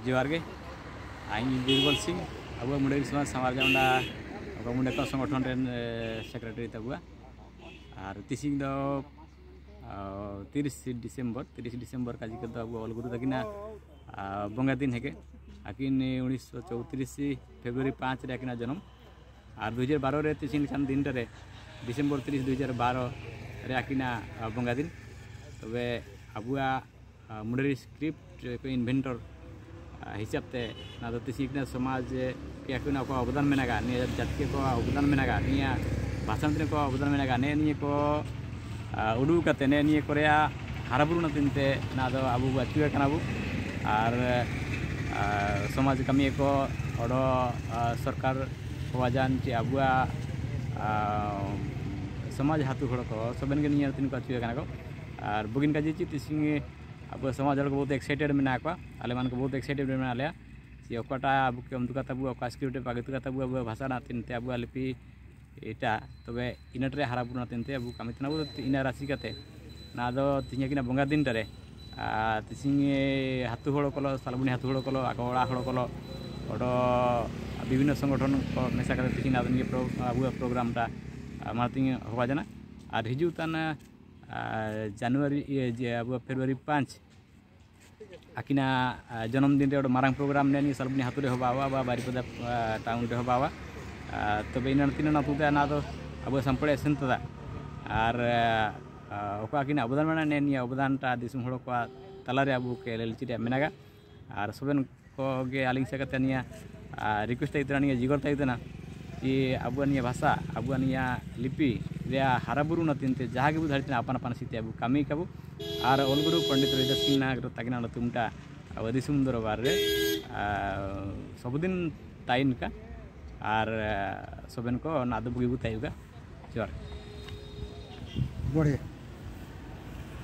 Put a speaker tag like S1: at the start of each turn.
S1: जोहार गे आइन बीरबल सिंह अब मुंडेरी समाज सामार जाउंडा अब मुंडे को संगठन रेन सेक्रेटरी तबुआ और तिसिंग दो 30 डिसेंबर 30 डिसेंबर काजी के अब ऑल गुरु तकिना बंगा दिन हेके अकिन 1934 फेब्रुआरी 5 रे अकिना जन्म और 2012 रे तिसिंग खान दिन रे डिसेंबर 30 2012 रे अकिना बंगा दिन। तबे अबुआ मुंडेरी स्क्रिप्ट को इन्वेंटर हिसाब ते ना तो तिसिंग समाज के अकिना को अवदान मेनागा निया जाति को अवदान मेनागा निया भाषण को अवदान मेनागा ने निये को उडू कते ने निये कोरिया हाराबुरु नतिनते ना दो अबु अचुए कनाबु और समाज कमी को ओडो सरकार होवाजान चे अबुआ समाज हातु हड़ को सबन के निया तिन को अचुए कना को और बुगिन काजी ची तिसिंग अब समाज हड़ को बहुत एक्साइटेड मेना को आले मान को बहुत एक्साइटेड मेना लेया ची ओकाटा अबु के उमदुका ताबु ओका स्क्रिप्ट पागतुका ताबु अबु भाषा ना तिनते अबु लिपि एटा तबे इनट रे हाराबुरु नतिनते अबु कामी तनाबु इना राशि कते ना दो तिहिया किना बंगा दिन रे तिसिंग हातु हड़ कलो सालबुनी हातु हड़ कलो आको ओड़ा हड़ कलो ओडो विभिन्न संगठन को मेसा कते तिहिन आदन के अबु प्रोग्राम टा मातिंग होवा जाना और हिजू ताना जानुआरी जे अब फेब्रुआरी 5 आकिना जन्मदिन रे मारांग प्रोग्राम ने सालबुनी हातु रे होबावा बा बारीपदा टाउन रे होबावा। तबे इना तिना नातुते ना दो अब संपड़े सेंतदा और ओका किना अवदान मेना ने निया अवदान टा दिसुम हड़ को तलारे अबु के लेलची रे मेनागा और सबेन को गे आलिंग से कते निया रिक्वेस्ट इतना निया जिगर ताइतना कि अबु निया भाषा अबु निया लिपि रे हाराबुरु नतिनते जहाँ के धारितना अपन अपन सीते अबु कामी काबु और ऑलगुरु पंडित रविदास सिंह नागर ताकिना तुमटा अब दिसुम दरबार रे सबदिन ताइन का और सबेन को नादो बुगी तायुगा जोहार।
S2: बढ़िया।